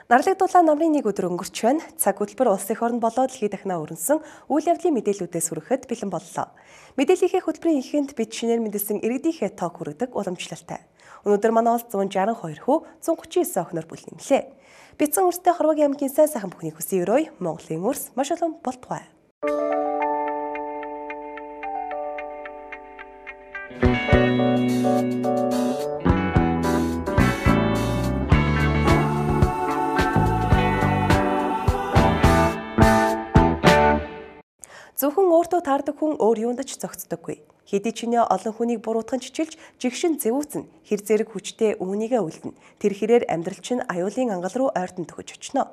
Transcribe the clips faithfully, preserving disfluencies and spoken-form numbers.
Нарлагдуулаа намрын нэг өдөр өнгөрч байна. Цаг хөтөлбөр улс их орн болоод дэлхийд дахинаа өрнсөн үйл явдлын мэдээллүүдээс хүрэхэд бэлэн боллоо. Мэдээллийнхээ хөтөлбөрийн ихэнх бид шинээр мэдсэн иргэдийнхээ тоог хүргэдэг уламжлалтай. Өнөөдөр манай улс зуун жарган хоёр хүү зуун гучин девять охиноор бүлгэмлээ. Бяцхан өрстэй Хорвогийн аймгийн сайн сайхан бүхнийг хүсэн өрөө Монголын өрс маш олон болтугай. Зөвхөн өөртөө таардаг хүн өөр юунд ч зогцдоггүй. Хэдий чинээ олон хүнийг буруутган чичилж, жигшин зэвүүцэн, хэр зэрэг хүчтэй үүнийгээ үлдэн. Тэр хэрээр амьдрал чинь аюулын ангал руу ойртон төхөж очно.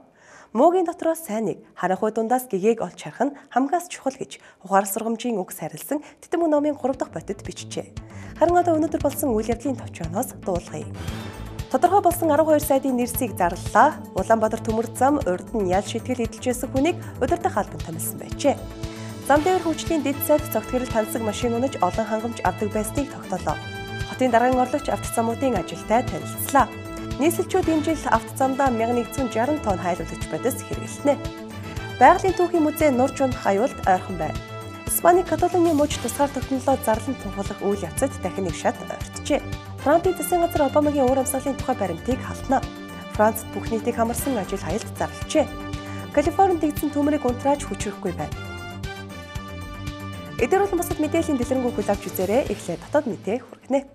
Муугийн дотроос сайныг, харанхуй дундаас гэгээг олж харах нь хамгаас чухал гэж ухаар сургамжийн үг сарилсан Титэм номын гурав дахь бодит бичжээ. Харин одоо өнөөдөр болсон үйл явдлын товчооноос дуулгая. Тодорхой болсон арван хоёр сайдын нэрсийг зарлалаа. Улаанбаатар төмөр зам урд нь ял шитгэл эдэлжсэн хүнийг удирдах албан томилсон байжээ. Зам дээр хөгжлийн дэд сайд цогтгөрөл тансаг машин унаж олон хангамж авдаг байсныг тогтоолоо. Хотын даргын орлогч автозамуудын ажилтай танилцлаа. Нийслэлчүүд энэ жил автозамдаа мянган нэгдсэн жарган тонн хайлуулагч бодис хэрэглэнэ. Байгалийн түүхийн музей Нурж унах аюулд ойрхон байна. Испаний Каталоны мужид тусгаар тогтнолоо зарлан тунхаглах үйл явцад дахин нэг шат ойртжээ. Францын засгийн газар Обамагийн уур амьсгалын тухай баримтыг халтна. Францад бүх нийтийг хамарсан ажил хаялт зарлажээ. Калифорнид дэгдсэн төмрийг унтрааж хүчрэхгүй байна. Эдгээр болон бусад мэдээллийн дэлгэрэнгүй хүлээвч авч үзээрэй. Эхлээд дотоод мэдээ хүргэнэ.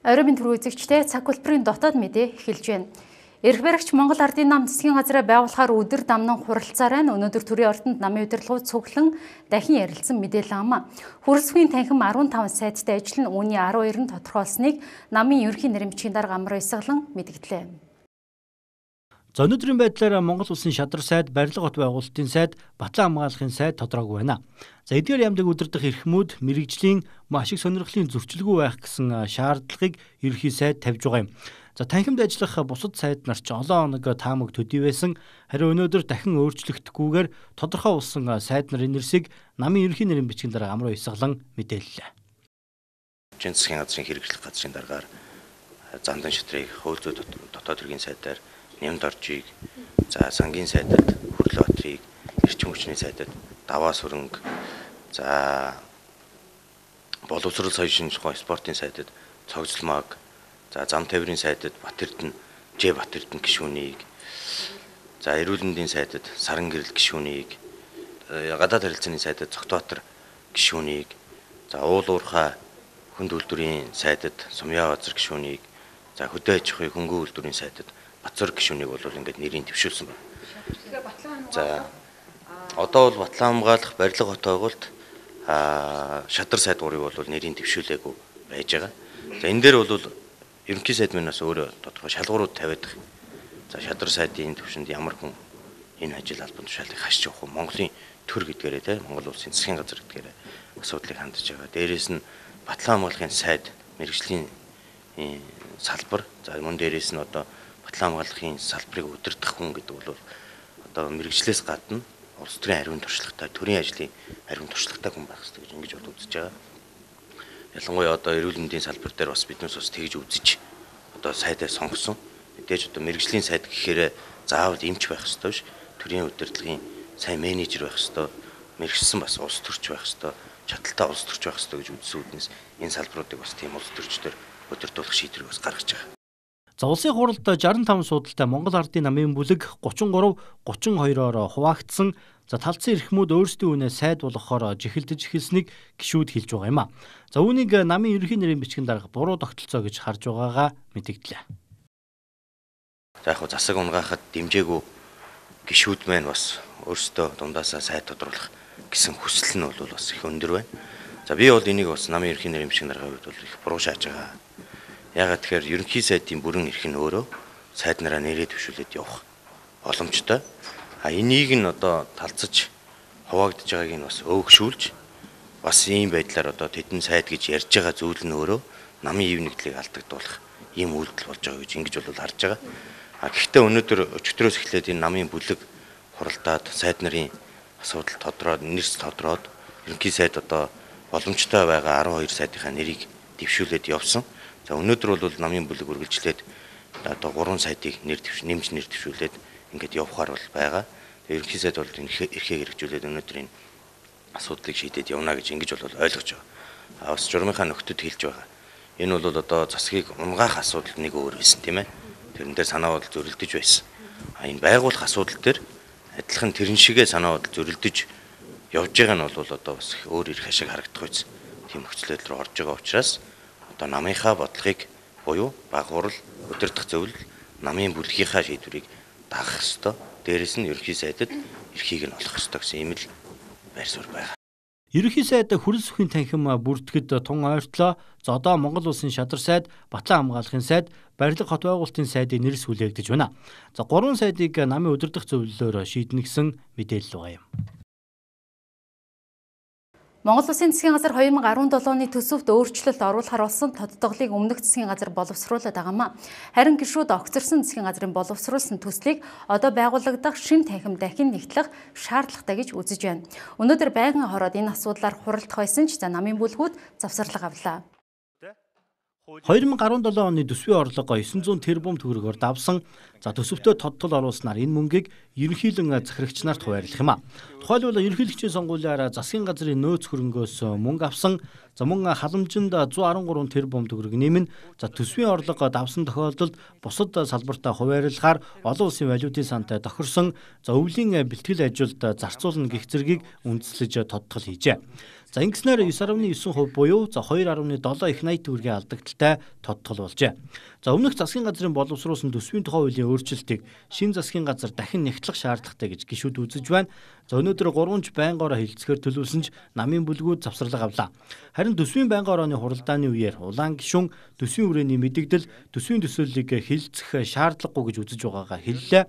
Оройн түрүү үзэгчтэй цаг хөтөлбөрийн дотоод мэдээ эхэлж байна. Эрх баригч Монгол Ардын нам засгийн газраа байгуулахаар өдөр дамнан хуралцаарай нь өнөөдөр төрийн ордонд намын удирдлагууд цуглан дахин ярилцсан мэдээлэл ам. Хүрэлцэгийн танхим арван таван сайттай ажил нь үүний арван хоёр нь тодорхойлсныг намын ерөнхий нэрмжийн дарга Амар Баясгалан мэдгдлээ. За өнөөдрийн байдлаар Монгол улсын шадар сайд, барилга хот байгуулалтын сайд, Батлан хамгаалахын сайд тодорхойгүй байна. За эдгээр яамдаг удирдах эрхмүүд мэрэгжлийн маш их сонирхлын зөрчилгүй байх гэсэн шаардлагыг ерөнхий сайд тавьж байгаа юм. За танхимд ажиллах бусад сайд нар ч олон хоног таамаг төдий байсан. Харин өнөөдөр дахин өөрчлөгдөхгүйгээр тодорхой болсон сайд нарын нэрсийг намын ерөнхий нэрийн бичгийн дарга Амар Баясгалан мэдээллээ. Засгийн газрын хэрэгжлэх газрын даргаар Зандан шатрыг хууль зүйн дотоод хэргийн сайдаар Нямд оржийг, за сангийн сайдад Хүрлээ Батрыг, эрчим хүчний сайдад Даваа сүрэнг, за боловсрол соёлын тухай спортын сайдад Цогцлмаг, за зам тээврийн сайдад Батэрдэн, Ж Батэрдэн гишүүнийг, за эрүүл мэндийн сайдад Саран гэрэл гишүүнийг, гадаад харилцааны сайдад Цогтбаатар гишүүнийг, за уул уурхай хүнд үйлдвэрийн сайдад Сумья Базар гишүүнийг, за хөдөө аж ахуйн хөнгөн үйлдвэрийн сайдад Бацар гишүүнийг бол ингээд нэрийг төвшүүлсэн байна. За одоо бол Батлан хамгаалах барилга хот байгуулалт а шадар сайд гурыг бол нэрийг төвшүүлээгүй байж байгаа. За энэ дээр бол ерөнхий сайд минь бас өөрөө тодорхой шалгуурууд тавиад байгаа. За шадар сайдын төвшөнд ямар хүн энэ ажил албан тушаалыг хашиж явах вэ? Монголын төр гэдгээрээ те Монгол улсын засгийн газар гэдгээрээ асуудлыг хандж байгаа. Дээрээс нь Батлан хамгаалахын сайд мэрэгжлийн салбар, за мөн дээрээс нь одоо Батлан хамгаалахын салбарыг удирдах хүн гэдэг бол одоо мэрэгжлээс гадна улс төрийн ариун туршлагатай, төрийн ажлын ариун туршлагатай хүн байх хэрэгтэй гэж ингэж бод үзэж байгаа. Ялангуяа одоо эрүүл мэндийн салбар дээр бас биднээс бас тэгж үзэж одоо сайдаа сонгосон. Мэдээж одоо мэрэгжлийн сайд гэхээр заавал эмч байх хэрэгтэй биш. Төрийн удирдлагын сайн менежер байх хэрэгтэй. Мэрэгчсэн бас улс төрч байх хэрэгтэй. Чадaltaй улс төрч байх хэрэгтэй гэж үзсэн үднэс энэ салбаруудыг бас тийм улс төрчдөр удирдуулах шийдвэрийг бас гаргаж байгаа. За улсын хуралд шестдесет и пять суудалтай Монгол Ардын намын бүлэг тридцать три тридцать two-оор хуваагдсан. За талцсан эрхмүүд өөрсдийн үнэ сайд болгохоор жихэлдэж эхэлснийг гишүүд хэлж байгаа юм а. За үүнийг намын ерөнхий нэрийн бичгийн дарга буруу тогтолцоо гэж харж байгаагаа мэдгдлээ. За яг засаг унгаахад дэмжээгүй гишүүд маань бас өөрсдөө дундаасаа сайд тодруулах гэсэн хүсэл нь бол бас их өндөр байна. За би бол энийг бас намын ерөнхий нэрийн бичгийн дарганы хувьд бол их буруу шааж байгаа. Ягаад тэгэхээр ерөнхий сайдын бүрэн эрх нь өөрөө сайд нараа нэрээ төвшүүлээд явах боломжтой. А энийг нь одоо талцаж хуваагдж байгааг нь бас өөгшүүлж бас ийм байдлаар одоо тэдэн сайд гэж ярьж байгаа зүйл нь өөрөө намын ив нэгдлийг алдагдуулах ийм үйлдэл болж байгаа гэж ингэж бол харж байгаа. А гэхдээ өнөөдөр өчигдрөөс эхлээд энэ намын бүлэг хуралдаад сайд нарын асуудал тодорхойд нэрс тодорхойд ерөнхий сайд одоо боломжтой байгаа арван хоёр сайдынхаа нэрийг дэвшүүлээд явсан. За өнөөдөр бол намын бүлэг үргэлжлээд одоо гурван сайтыг нэр нэмж нэр дэвшүүлээд ингээд явахаар бол байгаа. Тэгээ ерөнхий сайд бол эрхээ хэрэгжүүлээд өнөөдөр энэ асуудлыг шийдээд явна гэж ингэж бол ойлгож байгаа. А бас журмынхаа нөхдөд хэлж байгаа. Энэ бол одоо засгийг унгаах асуудал нэг өөр байсан тийм ээ. Тэрэн дээр санаа бодол зөрөлдөж байсан. А энэ байгуулах асуудал дээр адилхан тэрэн шигээ санаа бодол зөрөлдөж явж байгаа нь бол одоо бас өөр их ашиг харагдах байсан. Тийм нөхцөлөд рүү орж байгаа учраас одоо намынхаа бодлогыг буюу баг хурал удирдах зөвлөл намын бүлгийнхаа шийдвэрийг дагах ёстой. Дээрээс нь ерөнхий сайдад эрхийг нь олох ёстой гэсэн ийм л байр суурь байгаа. Ерөнхий сайд Хүрэл сүхийн танхим бүртгэд тун ойртлоо. За одоо Монгол улсын шадар сайд, Батлан хамгаалахын сайд, барилга хот байгуулалтын сайдын нэрс хүлээгдэж байна. За гурван сайдыг намын удирдах зөвлөлөөр шийднэ гэсэн мэдээлэл байгаа юм. Монгол Улсын засгийн газар хоёр мың арван долоо оны төсөвт өөрчлөлт оруулахар болсон тодтголыг өмнөх засгийн газар боловсруулад байгаамаа. Харин гишүүд огцорсон засгийн газрын боловсруулсан төслийг одоо байгуулагдах шин танхим дахин нэгтлэх шаардлагатай гэж үзэж байна. Өнөөдөр байнгын хороод энэ асуудлаар хуралдах байсан ч за намын бүлгүүд завсарлага авлаа. хоёр мың арван долоо оны төсвийн орлого есөн зуун тэрбум төгрөгөөр давсан. За төсөвтөө тодтол оруулснаар энэ мөнгийг ерөнхийлөн захирагч нарт хуваарлах юм а. Тухайлбал ерөнхийлөгчийн сонгуулиар засгийн газрын нөөц хөрөнгөөс мөнгө авсан. За мөн халамжинд зуун арван гурван тэрбум төгрөг нэмнэ. За төсвийн орлого давсан тохиолдолд бусад салбартаа хуваарлахаар олон улсын валютын сантай тохирсон. За өвлийн бэлтгэл ажилд зарцуулна гэх зэргийг үндэслэж тодтол хийжээ. За ингэснээр девять дасам девять хувь буюу за two дасам seven их eighty төгрөгийн алдагдaltaй тодтол болжээ. За өмнөх засгийн газрын боловсруулсан төсвийн тухай хуулийн өөрчлөлтийг шинэ засгийн газар дахин нэгтлэх шаардлагатай гэж гишүүд үзэж байна. За өнөөдөр гурванч байнгаараа хилцэхээр төлөвлөсөн ч намын бүлгүүд завсарлага авлаа. Харин төсвийн байнгын орооны хуралдааны үеэр улаан гишүүн төсвийн хүрээний мэдэгдэл төсвийн төсөөллийг хилцэх шаардлагагүй гэж үзэж байгаагаа хэллээ.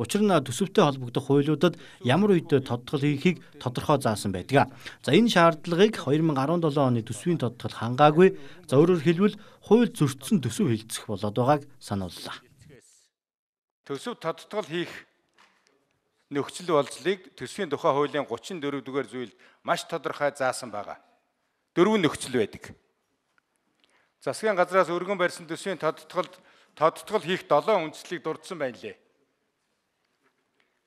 Учир нь төсөвтэй холбогдох хуулиудад ямар үед тодтол хийхийг тодорхой заасан байдаг. За энэ шаардлагыг хоёр мың арван долоо оны төсвийн тодтол хангаагүй. За өөрөөр хэлбэл хууль зөрчсөн төсөв хилцэх болоод байгааг санууллаа. Төсөв тодтол хийх нөхцөл болцлыг төсвийн тухай хуулийн гучин дөрөв дугаар зүйлд маш тодорхой заасан байгаа. Дөрвөн нөхцөл байдаг. Засгийн газраас өргөн барьсан төсвийн тодтолд тодтол хийх долоон үндслийг дурдсан байна лээ.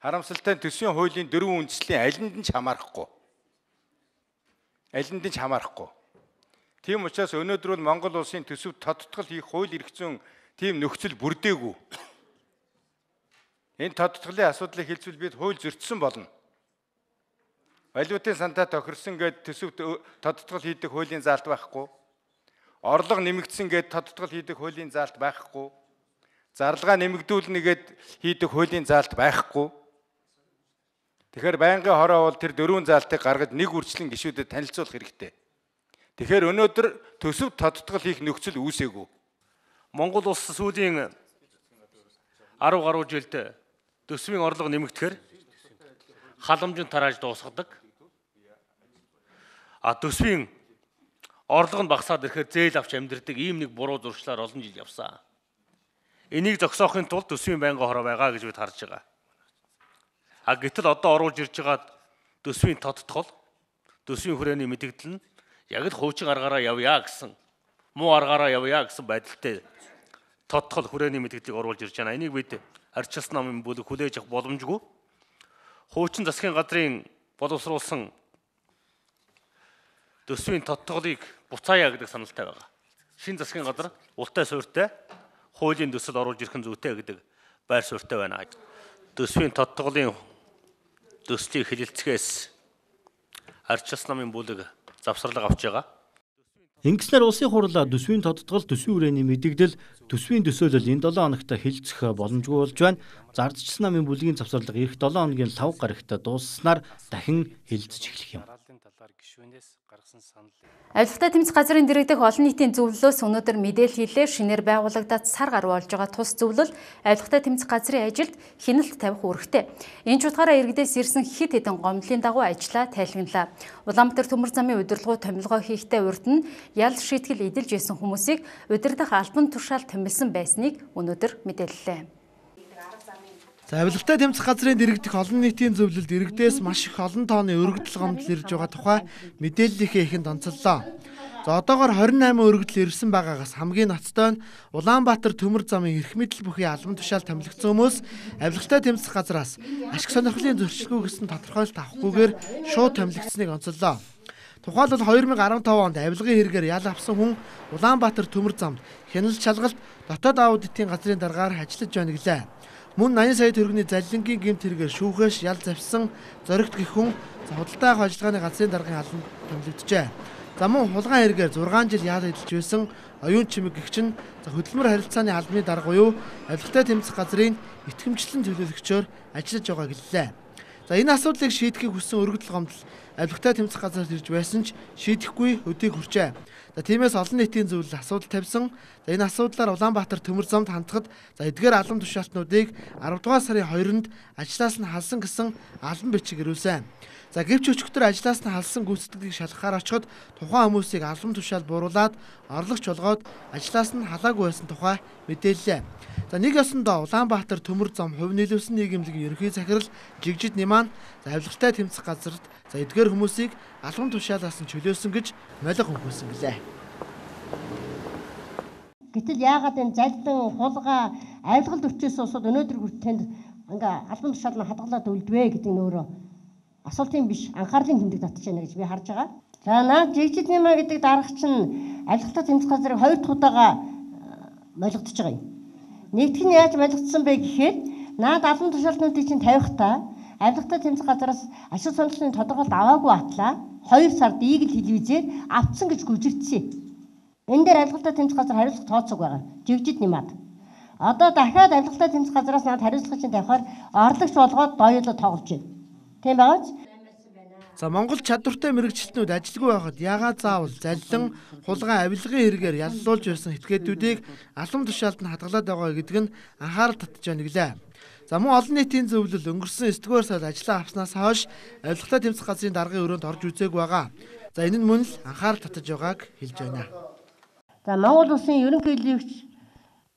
Харамсалтай нь төсвийн хуулийн дөрвөн үндслийн алинд нь ч хамаарахгүй. Алинд нь ч хамаарахгүй. Тийм учраас өнөөдөр бол Монгол улсын төсөв тодтол хийх хууль эрх зүйн тийм нөхцөл бүрдээгүй. Энэ тодтголын асуудлыг хэлцвэл бид хууль зөрчсөн болно. Валютын сантай тохирсон гэд төсөвт тодтгол хийдэг хуулийн заалт байхгүй. Орлого нэмэгдсэн гэд тодтгол хийдэг хуулийн заалт байхгүй. Зарлага нэмэгдүүлнэ гэд хийдэг хуулийн заалт байхгүй. Тэгэхээр байнгын хороо бол тэр дөрвөн заалтыг гаргаж нэг үржлэн гишүүдэд танилцуулах хэрэгтэй. Тэгэхээр өнөөдөр төсөв тодтгол хийх нөхцөл үүсээгүй. Монгол улс сүүлийн арав гаруй жилд төсвийн орлого нэмэгдэхээр халамжийн тарааж дуусгадаг. А төсвийн орлого нь багасаад ирэхээр зээл авч амьдрдаг ийм нэг буруу зуршлаар олон жил явсан. Энийг зогсоохын тулд төсвийн байнгын хороо байгаа гэж бид харж байгаа. А гэтэл одоо оруулж ирж байгаа төсвийн тодтгол, төсвийн хүрээний мэдэгдэл нь яг л хуучин аргаараа явъя гэсэн, муу аргаараа явъя гэсэн байдалтай тодтгол хүрээний мэдэгдлийг оруулж ирж байна. Энийг бид арчилсан намын бүлэг хүлээж авах боломжгүй. Хуучин засгийн газрын боловсруулсан төсвийн тодтголыг буцаая гэдэг саналтай байгаа. Шинэ засгийн газар ултай суурьтай хуулийн төсөл оруулж ирэх нь зүйтэй гэдэг байр суурьтай байна. Төсвийн тодтголын төслийг хэлэлцгээс арчилсан намын бүлэг завсарлага авч байгаа. Ингэснээр улсын хурал төсвийн тодтгол, төсвийн хүрээний мэдэгдэл, төсвийн төсөөлөл энэ долоон хоногт хэлцэх боломжгүй болж байна. Зардчилсан намын бүлгийн завсарлага эх долоон хоногийн лав гарагт дусснаар дахин хэлцэж эхлэх юм. Авилгатай тэмцэх газрын дэргэдэх олон нийтийн зөвлөлөөс өнөөдөр мэдээлэл хэлээ. Шинээр байгуулагдаад сар гаруй болж байгаа тус зөвлөл авилгатай тэмцэх газрын ажилд хяналт тавих үүрэгтэй. Энэ ч утгаараа иргэдээс ирсэн хэд хэдэн гомдлын дагуу ажиллаа тайлгналаа. Улаанбаатар төмөр замын удирдлагуу томилгоо хийхдээ урд нь ял шийтгэл эдэлж исэн хүмүүсийг удирдах албан тушаал томилсон байсныг өнөөдөр мэдээллээ. За авилгатай тэмцэх газрын дэргэдэх олон нийтийн зөвлөлд иргэдээс маш их олон тооны өргөдөл гомдол ирж байгаа тухай мэдээллийнхээ ихэнд онцоллоо. За одоогоор хорин найман өргөдөл ирсэн байгаагаас хамгийн ноцтой нь Улаанбаатар төмөр замын эрх мэдэл бүхий албан тушаал томилогдсон хүмүүс авилгатай тэмцэх газраас ашиг сонирхлын зөрчилгүй гэсэн тодорхойлолт авахгүйгээр шууд томилогдсныг онцоллоо. Тухайлбал хоёр мянга арван таван онд авилгын хэрэгээр ял авсан хүн Улаанбаатар төмөр замд хяналт шалгалт дотоод аудитын газрын даргаар ажиллаж байна гэлээ. Мөн найман сая төгрөгийн заллингийн гэмт хэрэгээр шүүхээс ял завьсан зоригт гэх хүн худалдаа авах ажиллагааны газрын даргын албанд томилогджээ. За мөн хулгайн хэрэгээр зургаан жил ял эдэлж байсан оюун чимэг гэгч нь хөдөлмөр харилцааны албаны дарга буюу авилгатай тэмцэх газрын итгэмжлэн төлөөлөгчөөр ажиллаж байгаа гэлээ. За энэ асуудлыг шийдэхийг хүссэн өргөдөл гомдол авилгатай тэмцэх газарт ирж байсан ч шийдэхгүй өдийг хүрчээ. За тиймээс олон нийтийн зөвлөл асуудал тавьсан. За энэ асуудлаар Улаанбаатар төмөр замд хандхад за эдгээр албан тушаалтнуудыг арав дугаар сарын хоёрнд ажлаас нь халсан гэсэн албан бичиг ирүүлсэн. За гэвч өчигдөр ажлаас нь халсан гүйцэтгэлийг шалгахаар очиход тухайн хүмүүсийг албан тушаал бууруулад орлогч болгоод ажлаас нь халаагүй байсан тухай мэдээллээ. За нэг ёсондоо Улаанбаатар төмөр зам хувь нийлүүлсэн нийгэмлэгийн ерөнхий захирал Жигжид Ниман за авилгатай тэмцэх газарт за эдгээр хүмүүсийг албан тушаалаас нь чөлөөсөн гэж молиг өгсөн гэлээ. Гэтэл яагаад энэ залдан хулгай авилгалд өчөөс усууд өнөөдөр хүртэнд ингээ албан тушаал нь хадгалаад үлдвэ гэдэг нь өөрөө асуултын биш анхаарлын тэмдэг татж байна гэж би харж байгаа. За наад Жигжид Ниман гэдэг дарга чинь авилгатай тэмцэх газрыг хоёр дахь удаага молигдож байгаа юм. Нэгдүгээр нь яаж молигдсон бэ гэхээр наад албан тушаалтнуудыг чинь тавихтаа авилгатай тэмцэх газраас ашиг сонирхлын тодорхойлолт аваагүй атлаа хоёр сард Eagle телевизээр авцсан гэж гүжигдсэн. Энэ дээр авилгатай тэмцэх газар хариуцлага тооцоог байгаа. Жигжид Нимад. Одоо дахиад авилгатай тэмцэх газраас наад хариуцлагыг чинь тавихаар орлогч болгоод доёолоо тоглож байна. Тийм байгаач? За Монгол чадвартай мэрэгчлэтнүүд ажилгүй байхад яагаад заавал заллин хулгай авилгын хэрэгээр яллуулж байсан этгээдүүдийг албан тушаалд нь хадгалаад байгаа гэдэг нь анхаарал татж байна гэлээ. За мөн олон нийтийн зөвлөл өнгөрсөн эсдүгээр сард ажиллаа авснаас хойш авилгатай тэмцэх газрын даргын өрөөнд орж үзээг байгаа. За энэ нь мөн л анхаарал татж байгааг хэлж байна. За Монгол улсын ерөнхий хэлбэрч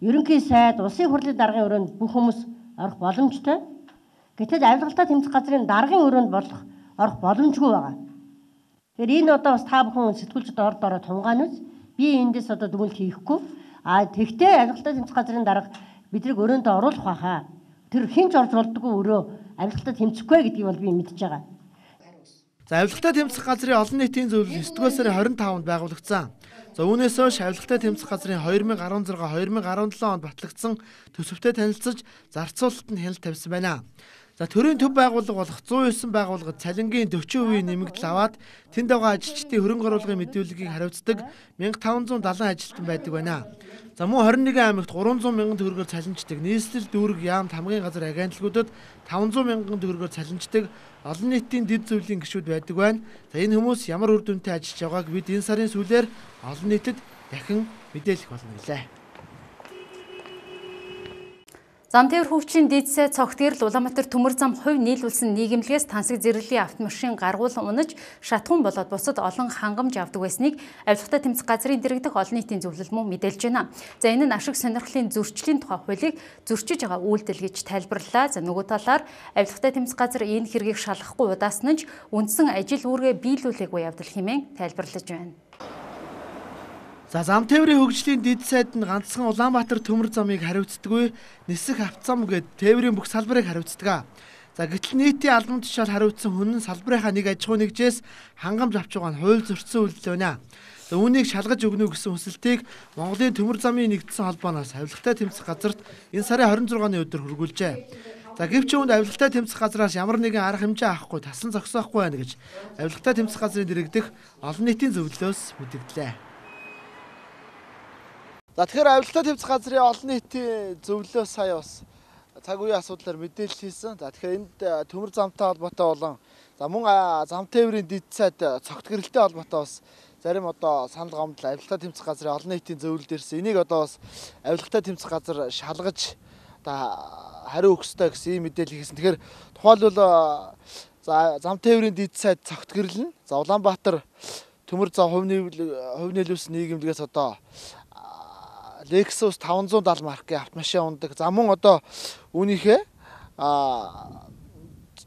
ерөнхий сайд улсын хурлын даргын өрөөнд бүх хүмүүс орох боломжтой. Гэтэл авилгатай тэмцэх газрын даргын өрөөнд болох орох боломжгүй байгаа. Тэгэхээр энэ одоо бас та бүхэн сэтгүүлчд орд ороо тунгаануус би эндээс одоо дүгнэлт хийхгүй. А тэгтээ авилгатай тэмцэх газрын дарга бидрийг өрөөндөө оруулах байхаа. Тэр хинч орж болдгоо өрөө авилгатай тэмцэхгүй гэдгийг бол би мэдж байгаа. За авилгатай тэмцэх газрын олон нийтийн зөвлөл эсдүгээр сарын хорин таванд байгуулагдсан. За үүнээс хойш авилгатай тэмцэх газрын хоёр мянга арван зургаа хоёр мянга арван долоо онд батлагдсан төсөвтэй танилцж зарцуулалт нь хяналт тавьсан байна. За төрийн төв байгууллага болох зуун девять байгууллагад цалингийн дөрвөн хувийн нэмэгдэл аваад тэнд байгаа ажилчдын хөрөнгө оруулгын мэдүүлгийг хариуцдаг мянга таван зуун даалан ажилтан байдаг байна. За мөн хорин нэгэн аймагт гурван зуун мянган төгрөгөөр цалинждаг нийслэл дүүрэг яамт хамгийн газар агентлагуудад таван зуун мянган төгрөгөөр цалинждаг олон нийтийн дэд зөвлийн гишүүд байдаг байна. За энэ хүмүүс ямар үр дүнтэй ажиллаж байгааг бид энэ сарын сүүлээр олон нийтэд дахин мэдээлэх болно гэлээ. Замтээвэр хөгжлийн дэд сайд цогтгэрэл Улаанбаатар төмөр зам хувь нийлүүлсэн нийгэмлэгээс тансаг зэрэглэлийн автомашин гаргуул унаж шатхуун болоод бусад олон хангамж авдаг байсныг авилгатай тэмцэх газрын дэргэдэх олон нийтийн зөвлөл мөн мэдээлж байна. За энэ нь ашиг сонирхлын зөрчлийн тухай хуулийг зөрчиж байгаа үйлдэл гэж тайлбарлалаа. За нөгөө талаар авилгатай тэмцэх газар энэ хэргийг шалгахгүй удаасан нь үндсэн ажил үүргээ биелүүлээгүй явдал хэмээн тайлбарлаж байна. За Замтээврийн хөгжлийн дэд сайд нь ганцхан Улаанбаатар төмөр замыг хариуцдаггүй нисэх автозам гээд тээврийн бүх салбарыг хариуцдаг. За гэтэл нийтийн албан тушаал хариуцсан хүн нь салбарынхаа нэг аж ахуй нэгжээс хангамж авч байгаа нь хууль зөрчсөн үйлдэл байна. За үүнийг шалгаж өгнө гэсэн хүсэлтийг Монголын төмөр замын нэгдсэн холбооноос авилгатай тэмцэх газарт энэ сарын хорин зургааны өдөр хүргүүлжээ. За гэвч үүнд авилгатай тэмцэх газраас ямар нэгэн арга хэмжээ авахгүй тасан зогсоохгүй байна гэж авилгатай тэмцэх газрын дэргэдэх олон нийтийн зөвлөлөөс мэдэгдлээ. За тэгэхээр авилгатай тэмцэх газрын олон нийтийн зөвлөлөө сая бас цаг үеийн асуудлаар мэдээлэл хийсэн. За тэгэхээр энд төмөр замтай холбоотой болон за мөн Замтээврийн дэд сайд цогтгэрэлтэй холбоотой бас зарим одоо санал гомдол авилгатай тэмцэх газрын олон нийтийн зөвлөлд ирсэн. Энийг одоо бас авилгатай тэмцэх газар шалгаж одоо хариу өгөх ёстой гэсэн ийм мэдээлэл хийсэн. Тэгэхээр тухайлбал за Замтээврийн дэд сайд цогтгэрэл нь за Улаанбаатар төмөр зам хувь нийлүүлсэн нийгэмлэгээс одоо Lexus таван зуун даал маркийн автомашин ундаг. За мөн одоо үүнийхээ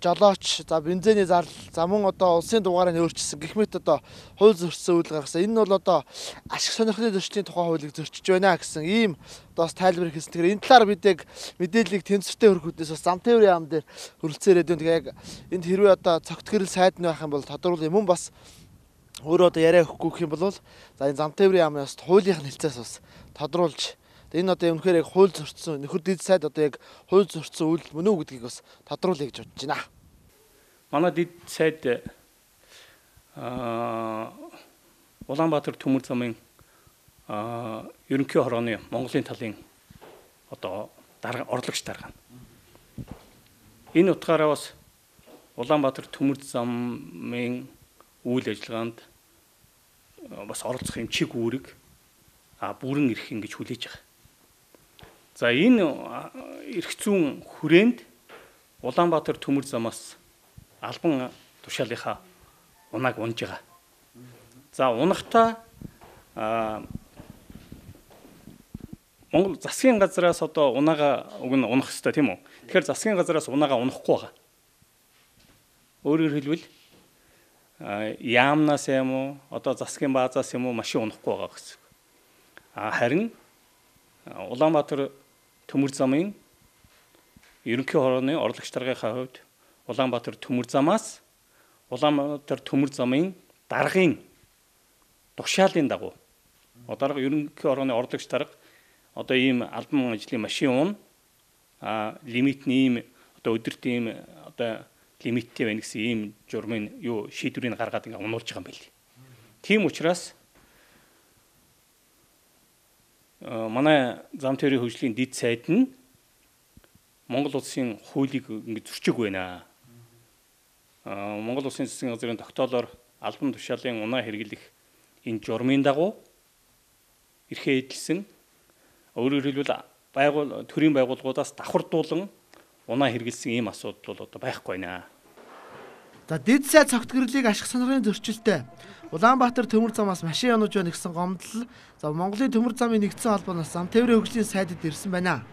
жолооч, за бензиний зардал, за мөн одоо улсын дугаарыг өөрчилсөн гэх мэт одоо хууль зөрчсөн үйл гаргасан. Энэ нь бол одоо ашиг сонирхлын зөрчлийн тухай хуулийг зөрчиж байна гэсэн ийм одоо бас тайлбар хийсэн. Тэгэхээр энэ талаар бид яг мэдээллийг тэнцвэртэй хөргөхүүднээс бас зам тээврийн яам дээр хөрөлцөн ирээд байна. Тэгээ яг энд хэрвээ одоо цогт гэрэл сайд нь байх юм бол тодорхойлол юм бас өөрөө одоо яриа өгөхгүй гэх юм бол за энэ зам тээврийн яамнаас хуулийнх нь хэлцээс бас тодруулж энэ одоо үнэхээр яг хууль зөрчсөн нөхөр дэд сайд одоо яг хууль зөрчсөн үйл мөн үү гэдгийг бас тодруулъя гэж бодож байна. Манай дэд сайд аа Улаанбаатар төмөр замын аа ерөнхий хорооны Монголын талын одоо дарга орлогч дарга. Энэ утгаараа бас Улаанбаатар төмөр замын үйл ажиллагаанд бас оролцох юм чиг үүрэг а бүрэн ирэх ингэж хүлээж байгаа. За энэ эрх зүйн хүрээнд Улаанбаатар төмөр замаас албан тушаалынхаа унааг унж байгаа. За унахтаа Монгол засгийн газраас одоо унаага уг нь унах хэрэгтэй тийм үү? Тэгэхээр засгийн газраас унаага унахгүй байгаа. Өөрөөр хэлбэл яамнаас юм уу одоо засгийн баазаас юм уу машин унахгүй байгаа гэсэн. А харин Улаанбаатар төмөр замын ерөнхий хорооны орлогч даргийнхаа хувьд Улаанбаатар төмөр замаас Улаанбаатар төмөр замын даргын тушаалын дагуу одоо ерөнхий хорооны орлогч дарга одоо ийм албан ажлын машин уун а лимитний ийм одоо өдөрт ийм одоо лимиттэй байна гэсэн ийм журмын юу шийдвэрийг гаргаад ингээ унуулж байгаа юм байл. Тийм учраас манай зам тээврийн хөгжлийн дэд сайд нь Монгол улсын хуулийг ингэ зөрчиг байна. Аа Монгол улсын засгийн газрын тогтоолоор албан тушаалын унаа хэрэглэх энэ журмын дагуу эрхээ эдэлсэн өөрөөр хэлбэл байгуул төрийн байгууллагуудаас давхардуулан унаа хэрэглэсэн ийм асуудал бол одоо байхгүй байна. За дэд сайд цогт гэрлийг ашиг сонирхлын зөрчилтэй Улаанбаатар төмөр замаас машин янууж байна гэсэн гомдол за Монголын төмөр замын нэгдсэн холбооноос зам тээврийн хөгжлийн сайдад ирсэн байна.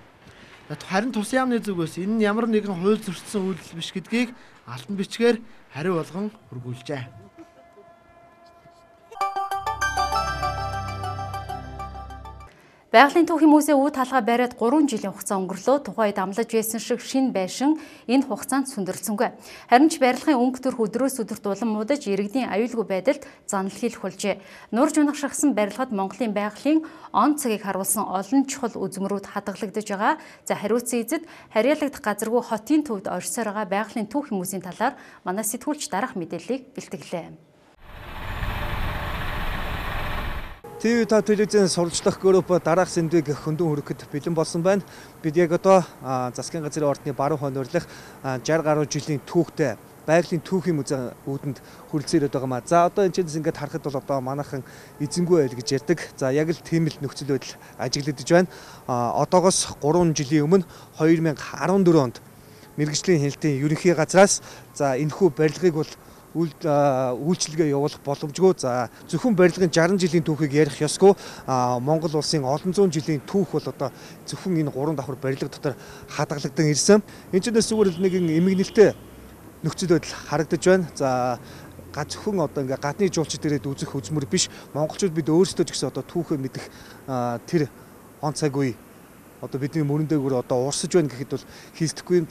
Харин тус яамны зүгээс энэ нь ямар нэгэн хууль зөрчсөн үйлдэл биш гэдгийг алтан бичгээр хариу болгон хургуулжээ. Байгалийн түүхийн музей үе талгаа бариад гурван жилийн хугацаа өнгөрлөө. Тухайд амлаж байсан шиг шин байшин энэ хугацаанд сүндэрлсэнгүй. Харин ч барилгын өнгө төрх өдрөөс өдөрт улам муудаж иргэдийн аюулгүй байдалд занал хийх болжээ. Нурж унагшихсан барилгад Монголын байгалийн он цагийг харуулсан олон чухал үзмрүүд хадгалагдаж байгаа. За хариуцсан эзэд харьяалагдах газаргүй хотын төвд оршсоор байгаа байгалийн түүхийн музейн талаар манай сэтгүүлч дараах мэдээллийг бэлтгэлээ. ТV та телевизэн сурвалжлах групп дараах сэндвийг хөндөөн хөрөхөд бэлэн болсон байна. Бид яг одоо засгийн газрын ордны баруун хоноорлох шийдэн гаруй жилийн түүхтэй байгалийн түүхийн музей үүдэнд хүрэлцээр байгаа маа. За одоо энэ чинь ингээд харахад бол одоо манайхан эзэнгүй байл гэж ярьдаг. За яг л тийм л нөхцөл байдал ажиглагдаж байна. Одоогоос гурван жилийн өмнө хоёр мянга арван дөрөв онд мэргэжлийн хяналтын ерөнхий газраас за энэхүү барилгыг бол үйлчлэгээ явуулах боломжгүй. За зөвхөн барилгын шаран жилийн түүхийг ярих ёсгүй. Монгол улсын олон зуун жилийн түүх бол одоо зөвхөн энэ гурван давхар барилга дотор хадгалагдсан ирсэн. Энэ ч нэсвэр нэгэн эмгэнэлтэй нөхцөл байдал харагдаж байна. За зөвхөн одоо ингээ гадны жуулчид ирээд үзэх үзмөр биш. Монголчууд бид өөрсдөө ч гэсэн одоо түүхээ мэдэх тэр он цаг үе одоо бидний мөрөн дээгүүр одоо урсаж байна гэхэд бол хийсдэхгүй юм.